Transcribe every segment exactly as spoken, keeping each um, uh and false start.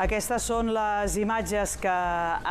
Aquestes són les imatges que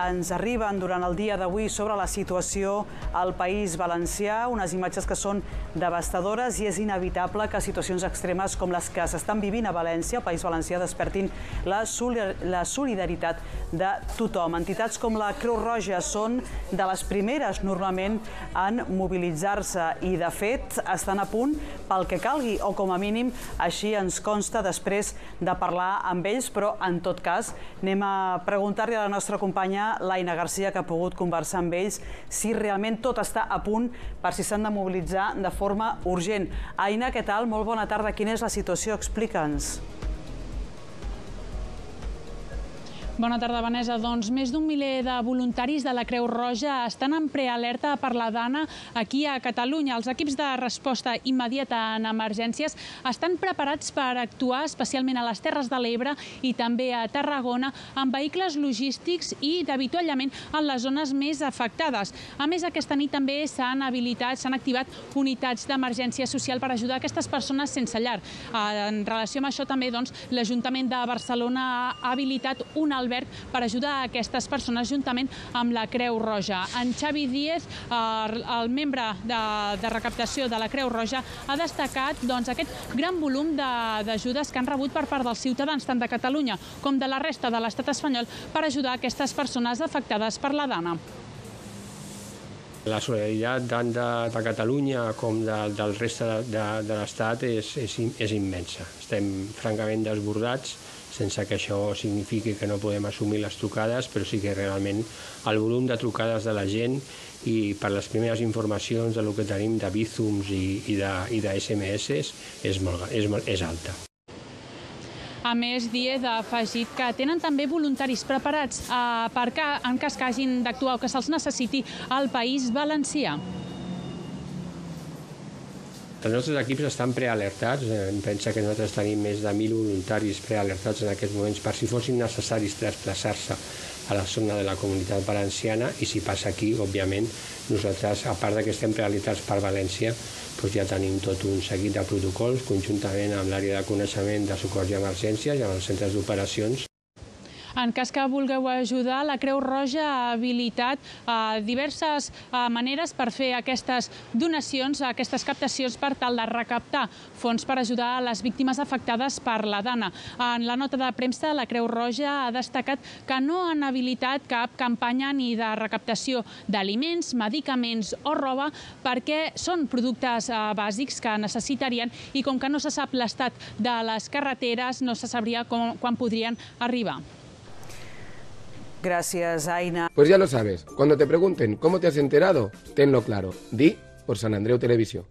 ens arriben durant el dia d'avui sobre la situació al País Valencià, unes imatges que són devastadores i és inevitable que situacions extremes com les que s'estan vivint a València, al País Valencià, despertin la solidaritat de tothom. Entitats com la Creu Roja són de les primeres normalment en mobilitzar-se i, de fet, estan a punt pel que calgui, o com a mínim així ens consta després de parlar amb ells, però en tot cas anem a preguntar-li a la nostra companya l'Aina Garcia, que ha pogut conversar amb ells, si realment tot està a punt per si s'han de mobilitzar de forma urgent. Aina, què tal? Molt bona tarda. Quina és la situació? Explica'ns. Bona tarda, Vanessa. Doncs més d'un miler de voluntaris de la Creu Roja estan en prealerta per la Dana aquí a Catalunya. Els equips de resposta immediata en emergències estan preparats per actuar especialment a les Terres de l'Ebre i també a Tarragona amb vehicles logístics i d'avituallament en les zones més afectades. A més, aquesta nit també s'han habilitat, s'han activat unitats d'emergència social per ajudar aquestes persones sense llar. En relació amb això també, doncs, l'Ajuntament de Barcelona ha habilitat un alberg per ajudar a aquestes persones juntament amb la Creu Roja. En Xavi Díez, el membre de recaptació de la Creu Roja, ha destacat aquest gran volum d'ajudes que han rebut per part dels ciutadans, tant de Catalunya com de la resta de l'estat espanyol, per ajudar aquestes persones afectades per la Dana. La solidaritat tant de Catalunya com del reste de l'Estat és immensa. Estem francament desbordats, sense que això signifiqui que no podem assumir les trucades, però sí que realment el volum de trucades de la gent i per les primeres informacions del que tenim de bízums i de esse eme esse és alta. A més, Díez ha afegit que tenen també voluntaris preparats en cas que hagin d'actuar o que se'ls necessiti al País Valencià. Els nostres equips estan prealertats. Pensa que nosaltres tenim més de mil voluntaris prealertats en aquests moments per si fossin necessaris desplaçar-se a la zona de la Comunitat Valenciana, i si passa aquí, òbviament, nosaltres, a part que estem prealertats per València, ja tenim tot un seguit de protocols conjuntament amb l'àrea de coneixement de socors i emergències i amb els centres d'operacions. En cas que vulgueu ajudar, la Creu Roja ha habilitat diverses maneres per fer aquestes donacions, aquestes captacions per tal de recaptar fons per ajudar a les víctimes afectades per la Dana. En la nota de premsa, la Creu Roja ha destacat que no han habilitat cap campanya ni de recaptació d'aliments, medicaments o roba, perquè són productes bàsics que necessitarien i com que no se sap l'estat de les carreteres, no se sabria quan podrien arribar. Gracias, Aina. Pues ya lo sabes, cuando te pregunten cómo te has enterado, tenlo claro. Di por San Andreu Televisión.